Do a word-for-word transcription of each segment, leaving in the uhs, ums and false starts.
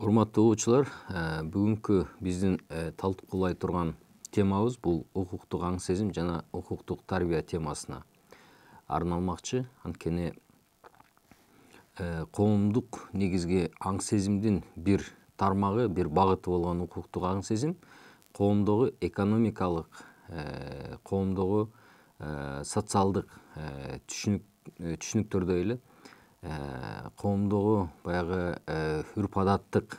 Урматтуу угуучулар, бүгүнкү биздин талкуулай турган темабыз бул укуктук аң сезим жана укуктук тарбия темасына арналмакчы. Анткени коомдук негизги аң сезимдин бир тармагы, бир багыты болгон укуктук аң сезим коомдогу экономикалык, коомдогу социалдык түшүнүктөрдө эле коомдогу баягы үрп адаттык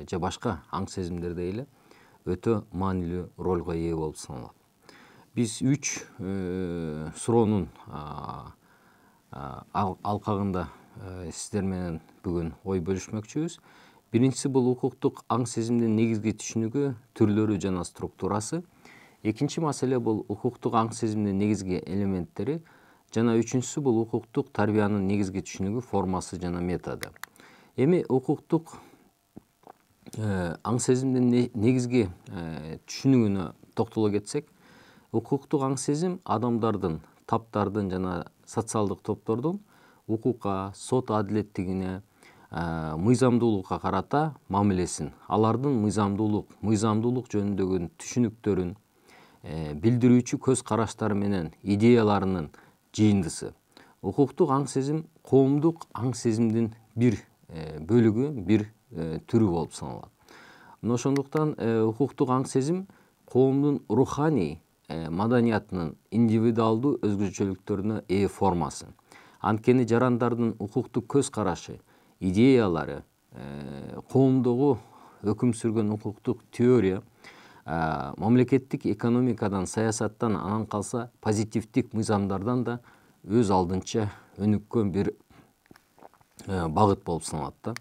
же башка аң сезимдерде эле өтө маанилүү ролго ээ болуп саналат. Биз үч суроонун алкагында сиздер менен бүгүн ой бөлүшмөкчүбүз. Биринчиси бул укуктук аң сезимдин негизги түшүнүгү, түрлөрү жана структурасы. Экинчи маселе бул укуктук аң сезимдин негизги элементтери жана үчүнчүсү бул укуктук тарбиянын негизги түшүнүгү, формасы жана методу. Эми укуктук аң сезимдин негизги түшүнүгүнө токтоло кетсек, укуктук аң сезим адамдардын, таптардын жана социалдык топтордун укукка, сот адилеттигине, мыйзамдуулукка карата мамилесин, алардын мыйзамдуулук, мыйзамдуулук жөнүндөгү түшүнүктөрүн билдирүүчү көз караштары менен идеяларынын жыйындысы. Укуктук аң сезим коомдук аң сезимдин бир бөлүгү, бир түрү болуп саналат. Мына ошондуктан укуктук аң сезим коомдун руханий маданиятынын индивидуалдуу өзгөчөлүктөрүнө ээ формасы. Анткени жарандардын укуктук көз карашы, идеялары, коомдогу өкүм сүргөн укуктук теория мамлекеттик экономикадан, саясаттан, анан калса позитивдик мыйзамдардан да өз алдынча өнүккөн бир багыт болуп саналат да.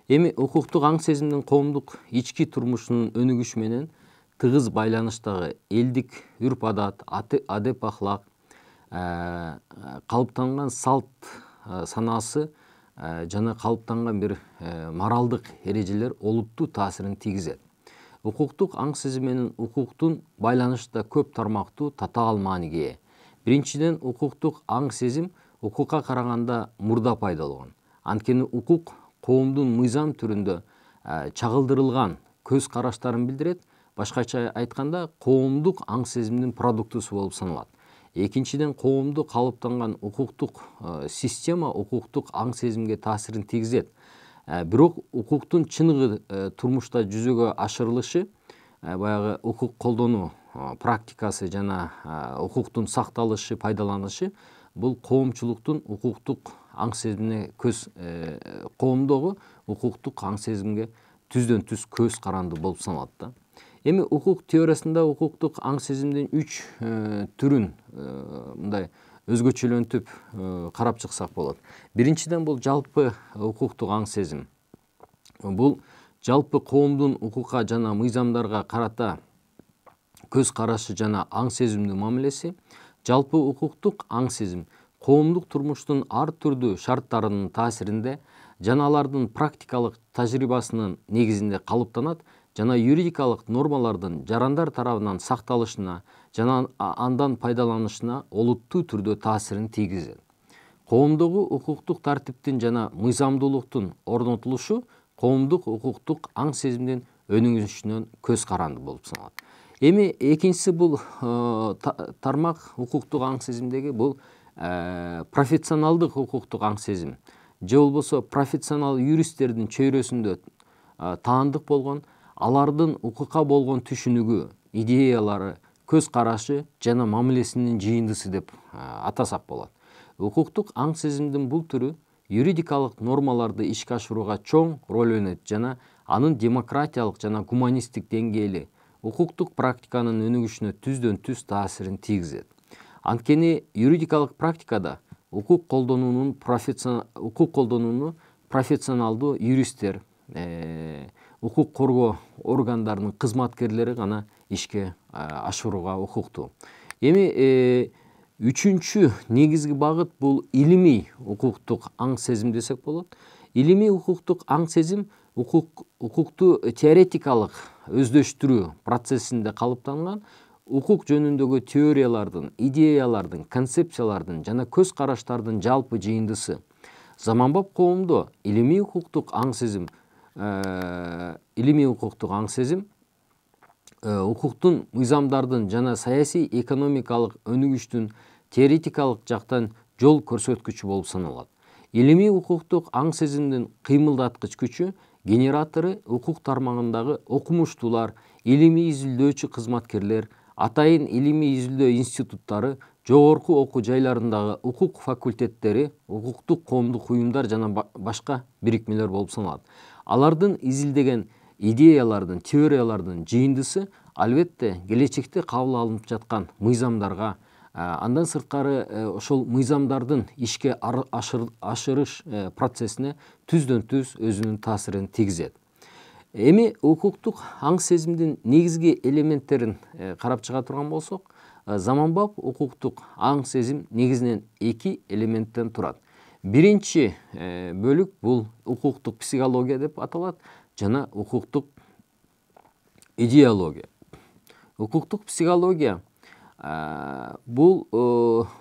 Эми укуктук аң сезимдин коомдук ички турмушунун өнүгүшү менен тыгыз байланыштагы элдик үрп адат, адеп ахлак, калыптанган салт санаасы жана калыптанган бир моралдык эрежелер олуттуу таасирин тийгизет. Укуктук аң сезим менен укуктун байланышта көп тармактуу татаал мааниге ээ. Биринчиден, укуктук аң сезим укукка караганда мурда пайдаланган. Анткени укук коомдун мыйзам түрүндө чагылдырылган көз караштарын билдирет, башкача айтканда коомдук аң сезимдин продуктусу болуп саналат. Экинчиден, коомдо калыптанган укуктук система укуктук аң сезимге таасирин тийгизет. Бирок укуктун чыныгы турмушта жүзөгө ашырылышы, баягы укук колдонуу практикасы жана укуктун сакталышы, пайдаланышы бул коомчулуктун укуктук аң сезимине көз коомдогу укуктук аң сезимге түздөн түз көз каранды болуп саналат да. Эми укук теориясында укуктук аң сезимдин үч түрүн мындай өзгөчөлөнтүп карап чыксак болот. Биринчиден, бул жалпы укуктук аң сезим. Бул жалпы коомдун укукка жана мыйзамдарга карата көз карашы жана аң сезимдин мамилеси. Жалпы укуктук аң сезим коомдук турмуштун ар түрдүү шарттарынын таасиринде жана алардын практикалык тажрыйбасынын негизинде калыптанат жана юридикалык нормалардын жарандар тарабынан сакталышына жана андан пайдаланышына олуттуу түрдө таасирин тийгизет. Коомдогу укуктук тартиптин жана мыйзамдуулуктун орнотулушу коомдук укуктук аң сезимдин өнүгүшүнөн көз каранды болуп саналат. Эми экинчиси бул тармак укуктук аң сезимдеги бул профессионалдык укуктук аң сезим же болбосо профессионал юристтердин чөйрөсүндө таандык болгон, алардын укукка болгон түшүнүгү, идеялары, көз карашы жана мамилесинин жыйындысы деп атасак болот. Укуктук аң сезимдин бул түрү юридикалык нормаларды ишке ашырууга чоң роль ойнойт жана анын демократиялык жана гуманисттик деңгээли укуктук практиканын өнүгүшүнө түздөн түз таасирин тийгизет. Анткени юридикалык практикада укук колдонуунун укук колдонууну профессионалдуу юристтер, укук коргоо органдарынын кызматкерлери гана ишке ашырууга укуктуу. Эми үчүнчү негизги багыт бул илимий укуктук аң сезим десек болот. Илимий укуктук аң сезим укукту теоретикалык өздөштүрүү процессинде калыптанган, укук жөнүндөгү теориялардын, идеялардын, концепциялардын жана көз караштардын жалпы жыйындысы. Заманбап коомдо илимий укуктук аң сезим илимий укуктук аң сезим укуктун мыйзамдардын жана саясий экономикалык өнүгүштүн теоретикалык жактан жол көрсөткүчү болуп саналат. Илимий укуктук аң сезимдин кыймылдаткыч күчү генератору укук тармагындагы окумуштуулар, илимий изилдөөчү кызматкерлер, атайын илимий изилдөө институттары, жогорку окуу жайларындагы укук факультеттери, укуктук коомдук уюмдар жана башка бирикмелер болуп саналат. Алардын изилдеген идеялардын, теориялардын жыйындысы албетте келечекте кабыл алынып жаткан мыйзамдарга, андан сырткары ошол мыйзамдардын ишке ашырыш процессине түздөн түз өзүнүн таасирин тийгизет. Эми укуктук аң сезимдин негизги элементтерин карап чыга турган болсок, заманбап укуктук аң сезим негизинен эки элементтен турат. Биринчи бөлүк бул укуктук психология деп аталат жана укуктук идеология. Укуктук психология бул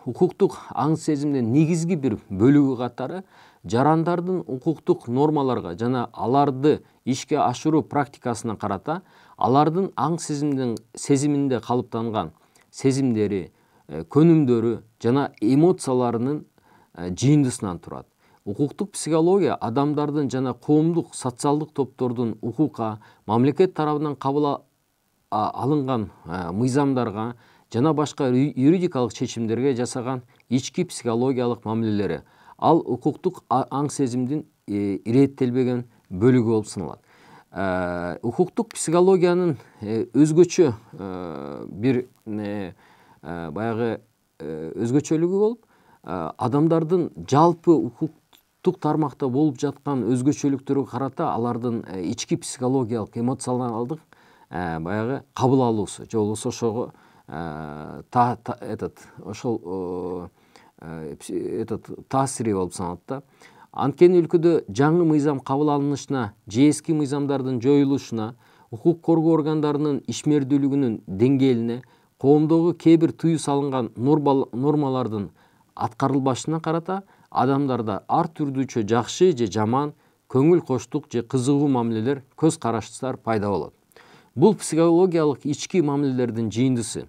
укуктук аң сезимдин негизги бир бөлүгү катары жарандардын укуктук нормаларга жана аларды ишке ашыруу практикасына карата алардын аң сезимдин сезиминде калыптанган сезимдери, көнүмдөрү жана эмоцияларынын жыйындысынан турат. Укуктук психология адамдардын жана коомдук социалдык топтордун укукка, мамлекет тарабынан кабыл алынган мыйзамдарга жана башка юридикалык чечимдерге жасаган ички психологиялык мамилелери. Ал укуктук аң сезимдин иреттелбеген бөлүгү болуп саналат. Укуктук психологиянын өзгөчө бир баягы өзгөчөлүгү болуп, адамдардын жалпы укуктук тармакта болуп жаткан өзгөчөлүктөргө карата алардын ички психологиялык, эмоционалдык баягы кабыл алуусу, же болбосо ошого этот ошол этот таасири болуп саналат да. Анткени өлкөдө жаңы мыйзам кабыл алынышына же эски мыйзамдардын жоюлушуна, укук коргоо органдарынын ишмердүүлүгүнүн деңгээлине, коомдогу кээ бир тыюу салынган нормалардын аткарылбашына карата адамдарда ар түрдүүчө жакшы же жаман, көңүл коштук же кызыгуу мамилелер, көз караштар пайда болот. Бул психологиялык ички мамилелердин жыйындысы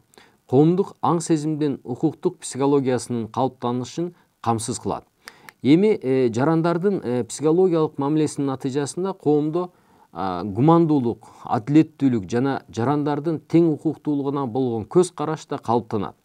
коомдук аң сезимдин укуктук психологиясынын калыптанышын камсыз кылат. Эми жарандардын психологиялык мамилесинин натыйжасында коомдо гумандуулук, адилеттүүлүк жана жарандардын тең укуктуулугуна болгон көз караш да калыптанат.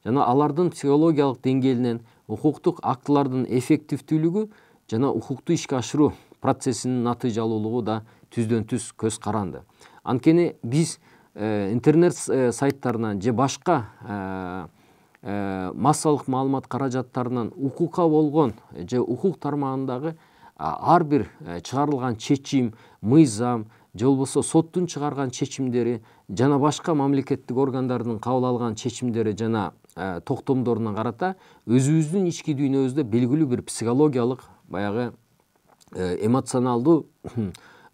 Жана алардын психологиялык деңгээлинен укуктук актылардын эффективдүүлүгү жана укукту ишке ашыруу процессинин натыйжалуулугу да түздөн түз көз каранды. Анткени биз интернет сайттарынан же башка массалык маалымат каражаттарынан укукка болгон же укук тармагындагы ар бир чыгарылган чечим, мыйзам же болбосо соттун чыгарган чечимдери жана башка мамлекеттик органдардын кабыл алган чечимдери жана токтомдоруна карата өзүбүздүн ички дүйнөбүздө белгилүү бир психологиялык баягы эмоционалдуу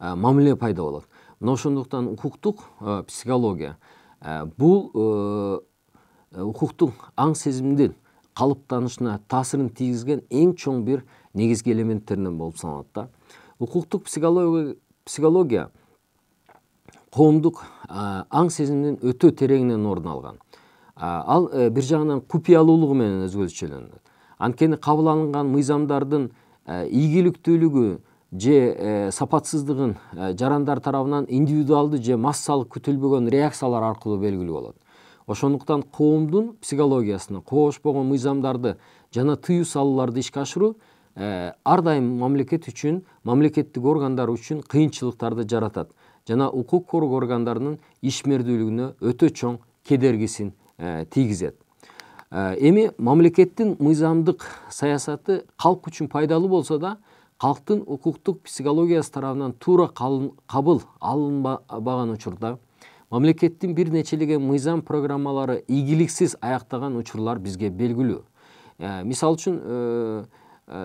мамиле пайда болот. Мына ошондуктан укуктук психология бул укуктук аң сезимдин калыптанышына таасирин тийгизген эң чоң бир негизги элементтеринен болуп саналат да. Укуктук психология коомдук аң сезимдин өтө тереңинен орун алган. Ал бир жагынан купуялуулугу менен өзгөчөлөнөт. Анткени кабыл алынган мыйзамдардын ийгиликтүүлүгү же сапатсыздыгын жарандар тарабынан индивидуалдуу же массалык күтүлбөгөн реакциялар аркылуу белгилүү болот. Ошондуктан коомдун психологиясына коошпогон мыйзамдарды жана тыюу салууларды ишке ашыруу ар дайым мамлекет үчүн, мамлекеттик органдар үчүн кыйынчылыктарды жаратат жана укук коргоо органдарынын ишмердүүлүгүнө өтө чоң кедергисин тийгизет. Эми мамлекеттин мыйзамдык саясаты калк үчүн пайдалуу болсо да, калктын укуктук психологиясы тарабынан туура кабыл алынбаган учурда мамлекеттин бир нечелеген мыйзам программалары ийгиликсиз аяктаган учурлар бизге белгилүү. Мисалы үчүн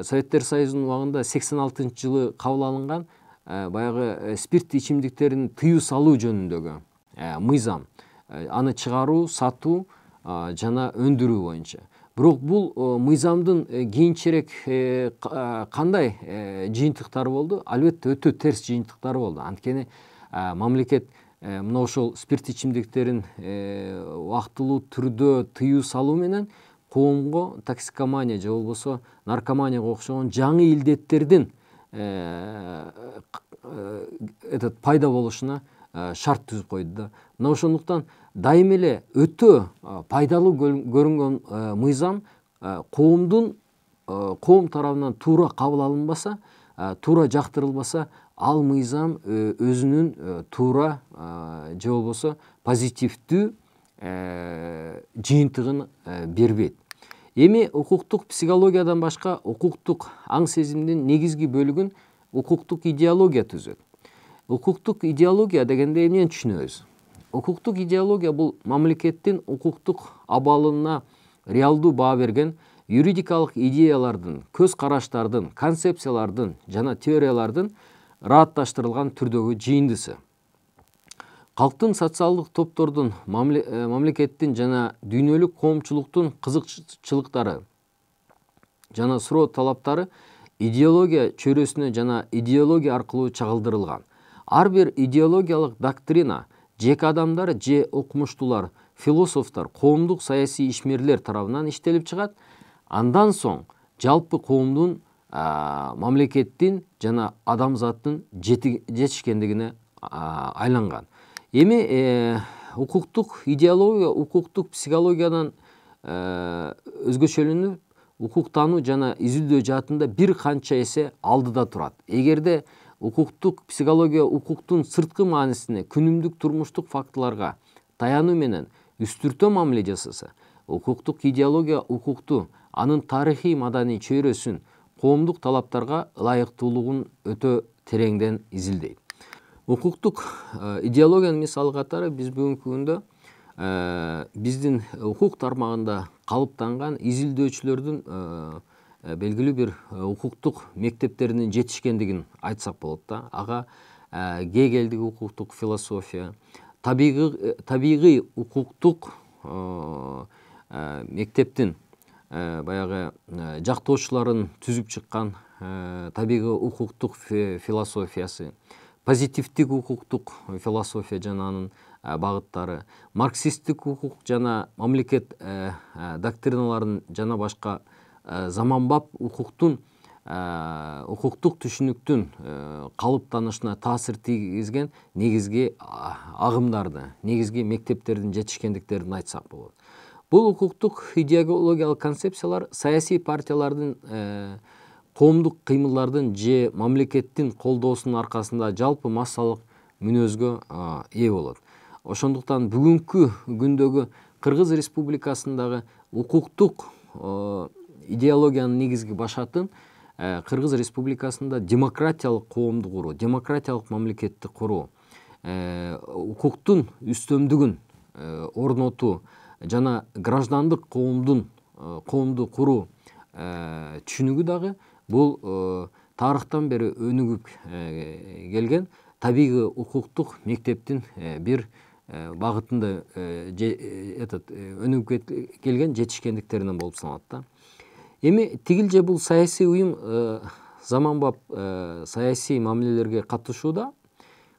Советтер Союзунун убагында сексен алтынчы жылы кабыл алынган баягы спирттүү ичимдиктерин тыюу салуу жөнүндөгү мыйзам, аны чыгаруу, сатуу жана өндүрүү боюнча. Бирок бул мыйзамдын кийинчерээк кандай жыйынтыктары болду? Албетте өтө терс жыйынтыктары болду. Анткени мамлекет мына ошол спирт ичимдиктерин убактылуу түрдө тыюу салуу менен коомго токсикомания же болбосо наркоманияга окшогон жаңы илдеттердин этот пайда болушуна шарт түзүп койду да. Мына ошондуктан дайым эле өтө пайдалуу көрүнгөн мыйзам коомдун коом тарабынан туура кабыл алынбаса, туура жактырылбаса, ал мыйзам өзүнүн туура же болбосо позитивдүү жыйынтыгын бербейт. Эми укуктук психологиядан башка укуктук аң сезимдин негизги бөлүгүн укуктук идеология түзөт. Укуктук идеология дегенде эмнени түшүнөбүз? Укуктук идеология бул мамлекеттин укуктук абалына реалдуу баа берген юридикалык идеялардын, көз караштардын, концепциялардын жана теориялардын ыраатташтырылган түрдөгү жыйындысы. Калктын социалдык топтордун, мамлекеттин жана дүйнөлүк коомчулуктун кызыкчылыктары жана суроо талаптары идеология чөйрөсүнө жана идеология аркылуу чагылдырылган. Ар бир идеологиялык доктрина жеке адамдар же окумуштуулар, философтор, коомдук саясий ишмерлер тарабынан иштелип чыгат. Андан соң жалпы коомдун, мамлекеттин жана адамзаттын жетишкендигине айланган. Эми укуктук идеология укуктук психологиядан өзгөчөлөнүп, укуктануу жана изилдөө жаатында бир канча эсе алдыда турат. Эгерде укуктук психология укуктун сырткы маанисине, күнүмдүк турмуштук фактыларга таянуу менен үстүртө мамиле жасаса, укуктук идеология укукту, анын тарыхый маданий чөйрөсүн, коомдук талаптарга ылайыктуулугун өтө тереңден изилдейт. Укуктук идеологиянын мисалы катары биз бүгүнкү күндө биздин укук тармагында калыптанган изилдөөчүлөрдүн белгилүү бир укуктук мектептеринин жетишкендигин айтсак болот да. Ага Гегелдик укуктук философия, табигый укуктук мектептин баягы жактоочуларын түзүп чыккан табигый укуктук философиясы, позитивдик укуктук философия жана анын багыттары, марксисттик укук жана мамлекет доктриналарын жана башка заманбап укуктун укуктук түшүнүктүн калыптанышына таасир тийгизген негизги агымдарды, негизги мектептердин жетишкендиктерин айтсак болот. Бул укуктук идеологиялык концепциялар саясий партиялардын, коомдук кыймылдардын же мамлекеттин колдоосунун аркасында жалпы массалык мүнөзгө ээ болот. Ошондуктан бүгүнкү күндөгү Кыргыз Республикасындагы укуктук идеологиянын негизги башатын Кыргыз Республикасында демократиялык коомду куруу, демократиялык мамлекетти куруу, укуктун үстөмдүгүн орнотуу жана граждандык коомдун коомду куруу түшүнүгү дагы бул тарыхтан бери өнүгүп келген табигый укуктук мектептин бир багытында этот өнүгүп келген жетишкендиктеринен болуп саналат да. Эми тигилже бул саясий уюм заманбап саясий мамилелерге катышууда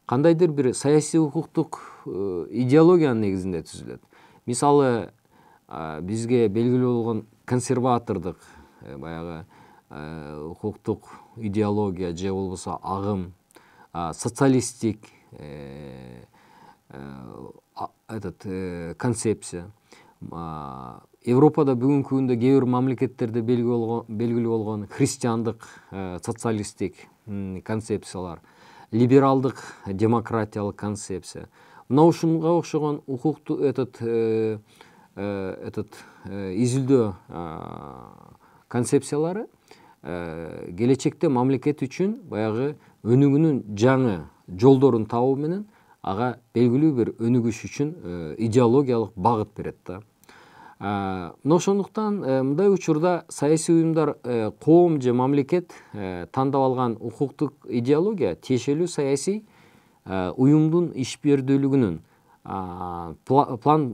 кандайдыр бир саясий укуктук идеологиянын негизинде түзүлөт. Мисалы, бизге белгилүү болгон консерватордук баягы укуктук идеология же болбосо агым, социалисттик этот концепция. Европада бүгүнкү күндө кээ бир мамлекеттерде белгилүү болгон христиандык социалисттик концепциялар, либералдык демократиялык концепция. Мына ушунга окшогон укукту этот этот изилдөө концепциялары келечекте мамлекет үчүн баягы өнүгүүнүн жаңы жолдорун табуу менен ага белгилүү бир өнүгүш үчүн идеологиялык багыт берет да. Мына ошондуктан мындай учурда саясий уюмдар коом же мамлекет тандап алган укуктук идеология тиешелүү саясий уюмдун ишбердүүлүгүнүн план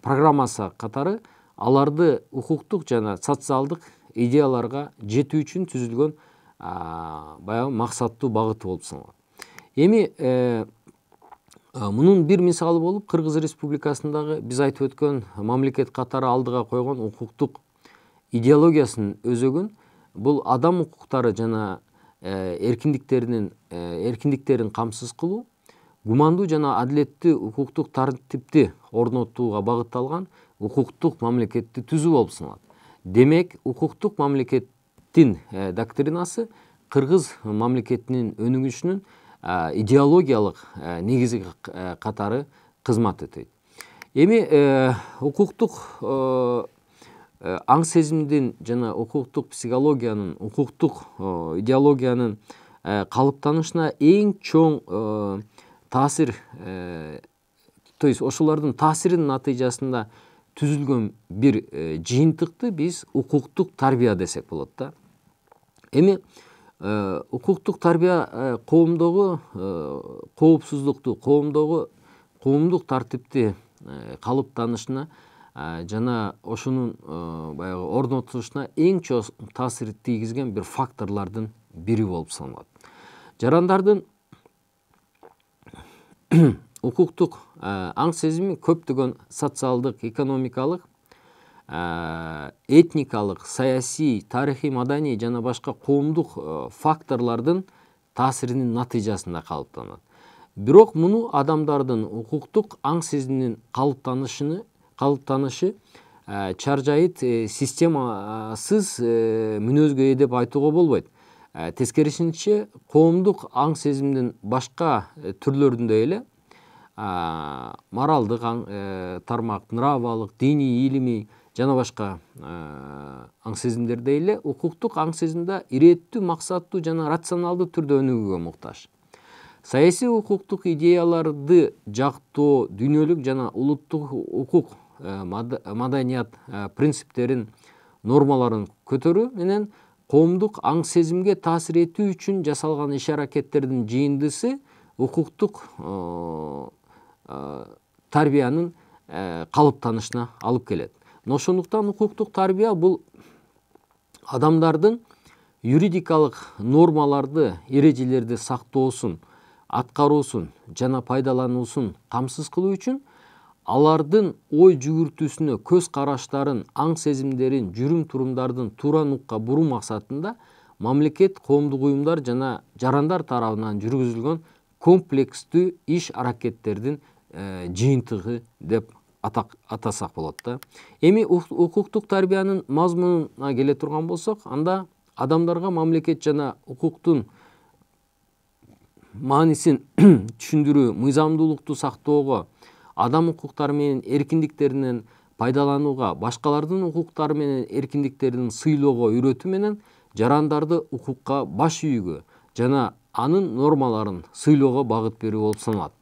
программасы катары аларды укуктук жана социалдык идеяларга жетүү үчүн түзүлгөн баягы максаттуу багыты болуп саналат. Эми мунун бир мисалы болуп Кыргыз Республикасындагы биз айтып өткөн мамлекет катары алдыга койгон укуктук идеологиясын өзөгөн бул адам укуктары жана эркиндиктеринин эркиндиктерин камсыз кылуу, гумандуу жана адилеттүү укуктук тартипти орнотууга багытталган укуктук мамлекетти түзүү болуп саналат. Демек, укуктук мамлекеттин доктринасы Кыргыз мамлекетинин өнүгүшүнүн идеологиялык негизи катары кызмат этет. Эми укуктук аң сезимдин жана укуктук психологиянын, укуктук идеологиянын калыптанышына эң чоң таасир, то есть ошолордун таасиринин натыйжасында түзүлгөн бир жыйынтыкты биз укуктук тарбия десек болот да. Эми укуктук тарбия коомдогу коопсуздукту, коомдогу коомдук тартипти калыптанышына жана ошонун баягы орнотулушуна эң чоң таасир тийгизген бир факторлордун бири болуп саналат. Жарандардын укуктук аң сезими көптөгөн социалдык, экономикалык, этникалык, саясий, тарыхый, маданий жана башка коомдук факторлордун таасиринин натыйжасында калыптанат. Бирок муну адамдардын укуктук аң сезиминин калыптанышыны калыптанышы чаржайыт системасыз мүнөзгө ээ деп айтууга болбойт. Тескерисинче, коомдук аң сезимдин башка түрлөрүндөй эле моралдык тармак, нравалык, диний, илимий жана башка аң сезимдердей эле укуктук аң сезим да иреттүү, максаттуу жана рационалдуу түрдө өнүгүүгө муктаж. Саясий укуктук идеяларды жактоо, дүйнөлүк жана улуттук укук, маданият принциптерин, нормаларын көтөрүү менен коомдук аң сезимге таасир этүү үчүн жасалган иш-аракеттердин жыйындысы укуктук тарбиянын калыптанышына алып келет. Ошондуктан укуктук тарбия бул адамдардын юридикалык нормаларды, эрежелерди сактоосун, аткаруусун жана пайдалануусун камсыз кылуу үчүн алардын ой жүгүртүүсүнө, көз караштарын, аң сезимдерин, жүрүм-турумдардын туура нукка буруу максатында мамлекет, коомдук уюмдар жана жарандар тарабынан жүргүзүлгөн комплекстүү иш-аракеттердин жыйынтыгы деп атасак болот да. Эми укуктук тарбиянын мазмунуна келе турган болсок, анда адамдарга мамлекет жана укуктун маанисин түшүндүрүү, мыйзамдуулукту сактоого, адам укуктары менен эркиндиктеринен пайдаланууга, башкалардын укуктары менен эркиндиктерин сыйлоого үйрөтүү менен жарандарды укукка баш ийүүгө жана анын нормаларын сыйлоого багыт берүү болуп саналат.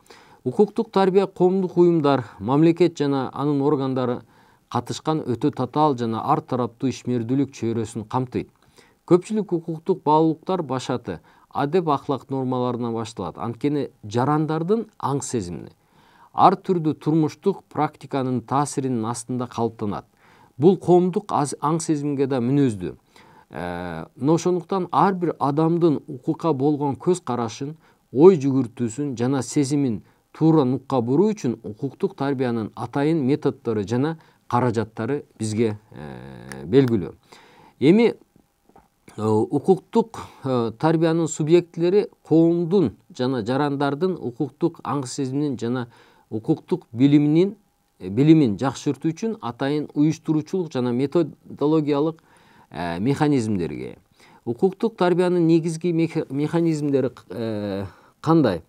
Укуктук тарбия коомдук уюмдар, мамлекет жана анын органдары катышкан өтө татаал жана ар тараптуу ишмердүүлүк чөйрөсүн камтыйт. Көпчүлүк укуктук баалуулуктар башаты адеп ахлак нормаларынан башталат. Анткени жарандардын аң сезимини ар түрдүү турмуштук практиканын таасиринин астында калыптанат. Бул коомдук аң сезимге да мүнөздүү. Ошондуктан ар бир адамдын укукка болгон көз карашын, ой жүгүртүүсүн жана сезимин туура нукка буруу үчүн укуктук тарбиянын атайын методдору жана каражаттары бизге белгилүү. Эми укуктук тарбиянын субъектилери коомдун жана жарандардын укуктук аң сезиминин жана укуктук билиминин билимин жакшыртуу үчүн атайын уюштуруучулук жана методологиялык механизмдерге. Укуктук тарбиянын негизги механизмдери кандай?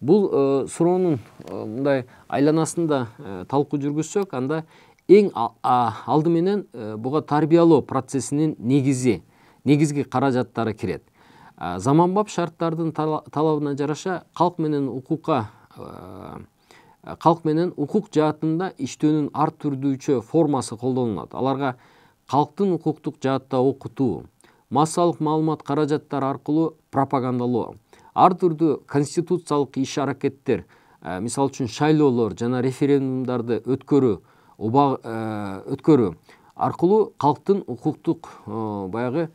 Бул суроонун мындай айланасында талкуу жүргүзсөк, анда эң алды менен буга тарбиялоо процессинин негизи, негизги каражаттары кирет. Заманбап шарттардын талабына жараша калк менен укукка калк менен укук жаатында иштөөнүн ар түрдүүчө формасы колдонулат. Аларга калктын укуктук жаатта окутуу, массалык маалымат каражаттары аркылуу пропагандалоо, ар түрдүү конституциялык иш-аракеттер, мисалы үчүн шайлоолор жана референдумдарды өткөрүү, өткөрүү, аркылуу калктын укуктук баягы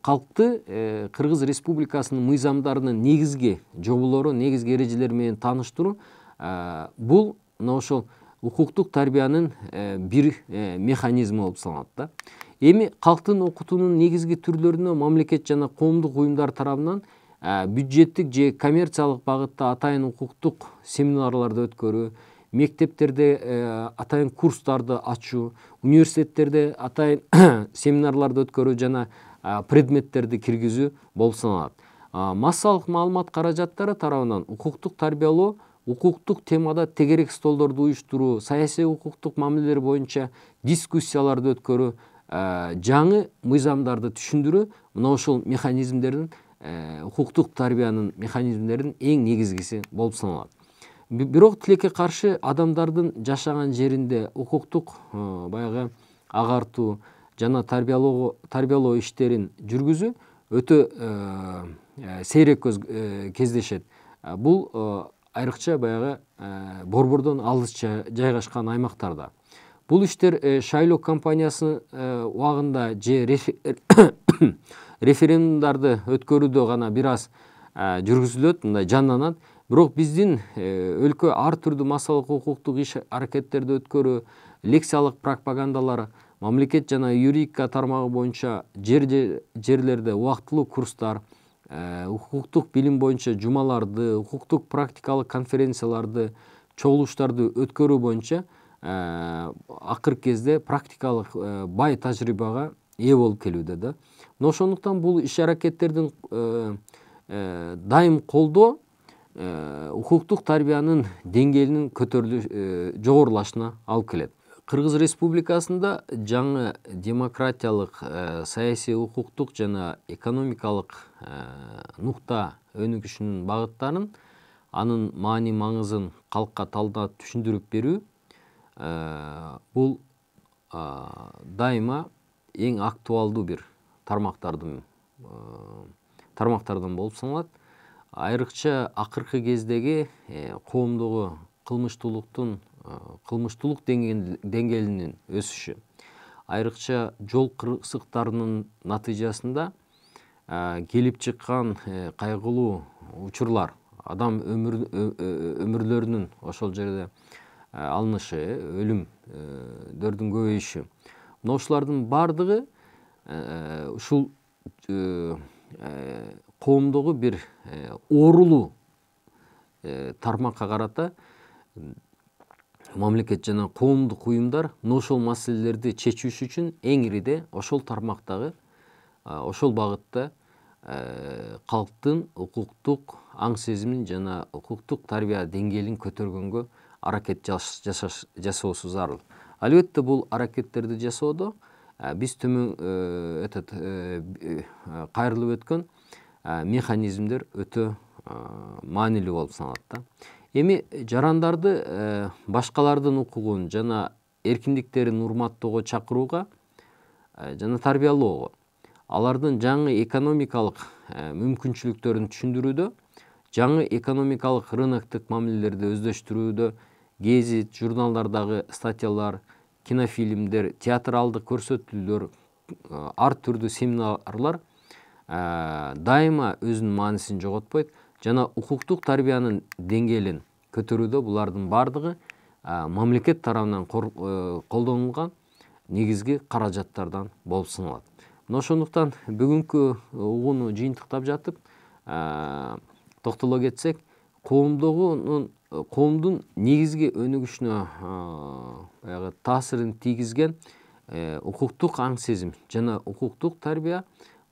калкты Кыргыз Республикасынын мыйзамдарынын негизги жоболору, негизги эрежелери менен тааныштыруу бул мына ошол укуктук тарбиянын бир механизми болуп саналат да. Эми калктын окутуунун негизги түрлөрүнө мамлекет жана коомдук уюмдар тарабынан бюджеттик же коммерциялык багытта атайын укуктук семинарларды өткөрүү, мектептерде атайын курстарды ачуу, университеттерде атайын семинарларды өткөрүү жана предметтерди киргизүү болуп саналат. Массалык маалымат каражаттары тарабынан укуктук тарбиялоо, укуктук темада тегерек столдорду уюштуруу, саясий укуктук мамилелер боюнча дискуссияларды өткөрүү, жаңы мыйзамдарды түшүндүрүү мына ошол механизмдердин, укуктук тарбиянын механизмдеринин эң негизгиси болуп саналат. Бирок тилекке каршы адамдардын жашаган жеринде укуктук баягы агартуу жана тарбиялоо иштерин жүргүзүү өтө сейрек кездешет. Бул айрыкча баягы борбордон алыс жайгашкан аймактарда. Бул иштер шайлоо кампаниясы убагында же референдумдарды өткөрүүдө гана бир аз жүргүзүлөт, мындай жанданат. Бирок биздин өлкө ар түрдүү массалык укуктук иш аракеттерди өткөрүү, лекциялык пропагандалар, мамлекет жана юридика тармагы боюнча жерлерде убактылуу курстар, укуктук билим боюнча жумаларды, укуктук практикалык конференцияларды, чогулуштарды өткөрүү боюнча акыркы кезде практикалык бай тажрыйбага ээ болуп келүүдө да. Мына ошондуктан бул иш аракеттердин дайым колдоо укуктук тарбиянын деңгээлинин көтөрүлүп жогорулашына алып келет. Кыргыз Республикасында жаңы демократиялык, саясий укуктук жана экономикалык нукта өнүгүшүнүн багыттарын, анын маани маңызын калкка талдап түшүндүрүп берүү бул дайыма эң актуалдуу бир тармактардан тармактардан болуп саналат. Айрыкча акыркы кездеги коомдогу кылмыштуулуктун кылмыштуулук деңгээлинин өсүшү, айрыкча жол кырсыктарынын натыйжасында келип чыккан кайгылуу учурлар, адам өмүрлөрүнүн ошол жерде алынышы, өлүмдөрдүн көбөйүшү. Мына ушулардын бардыгы ушул коомдогу бир оорулуу тармакка карата мамлекет жана коомдук уюмдар мына ошол маселелерди чечүүсү үчүн эң ириде ошол тармактагы, ошол багытта калктын укуктук аң сезимин жана укуктук тарбия деңгээлин көтөргөнгө аракет жасоосу зарыл. Албетте бул аракеттерди жасоодо биз төмөн этот кайрылып өткөн механизмдер өтө маанилүү болуп саналат да. Эми жарандарды башкалардын укугун жана эркиндиктерин урматтоого чакырууга жана тарбиялоого, алардын жаңы экономикалык мүмкүнчүлүктөрүн түшүндүрүүдө, жаңы экономикалык рыноктук мамилелерди өздөштүрүүдө гезит, журналдардагы статьялар, кинофильмдер, театралдык көрсөтүүлөр, ар түрдүү семинарлар дайыма өзүнүн маанисин жоготпойт жана укуктук тарбиянын деңгээлин көтөрүүдө булардын бардыгы мамлекет тарабынан колдонулган негизги каражаттардан болуп саналат. Мына ошондуктан бүгүнкү угууну жыйынтыктап жатып токтоло кетсек, коомдогунун коомдун негизги өнүгүшүнө баягы таасирин тийгизген укуктук аң сезим жана укуктук тарбия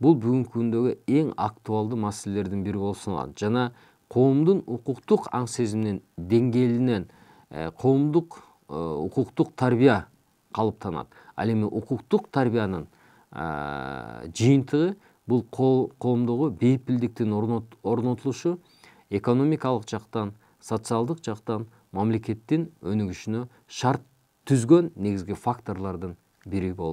бул бүгүнкү күндөгү эң актуалдуу маселелердин бири болуп саналат. Жана коомдун укуктук аң сезиминин деңгээлинен коомдук укуктук тарбия калыптанат. Ал эми укуктук тарбиянын жыйынтыгы бул коомдогу бейпилдиктин орнотулушу, экономикалык жактан, социалдык жактан мамлекеттин өнүгүшүнө шарт түзгөн негизги факторлордун бири болуп